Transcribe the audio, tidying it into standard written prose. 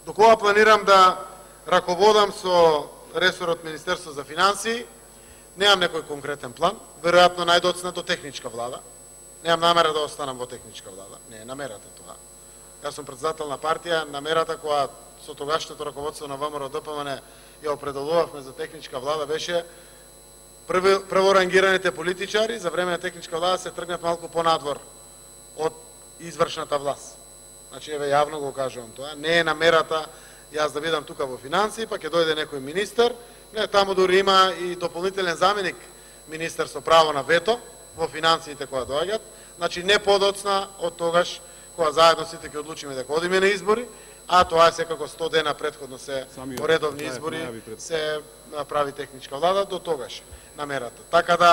До кога планирам да раководам со ресорот Министерство за финансии, немам некој конкретен план, веројатно најдоцна до техничка влада. Немам намера да останам во техничка влада, не е намерата тоа. Јас сум претседател на партија, намерата која со тогашното раководство на ВМРО-ДПМН ја определувавме за техничка влада беше прворангираните политичари за време на техничка влада се тргнат малку понадвор од извршната власт. Значи, еве јавно го кажувам тоа, не е намерата јас да бидам тука во финансии, па ќе дојде некој министер, не, таму дури има и дополнителен заменик министер со право на вето во финансиите која доаѓат, значи не подоцна од тогаш кога заедно сите ќе одлучиме дека одиме на избори, а тоа е секако 100 дена претходно се по редовни избори се прави техничка влада, до тогаш намерата. Така да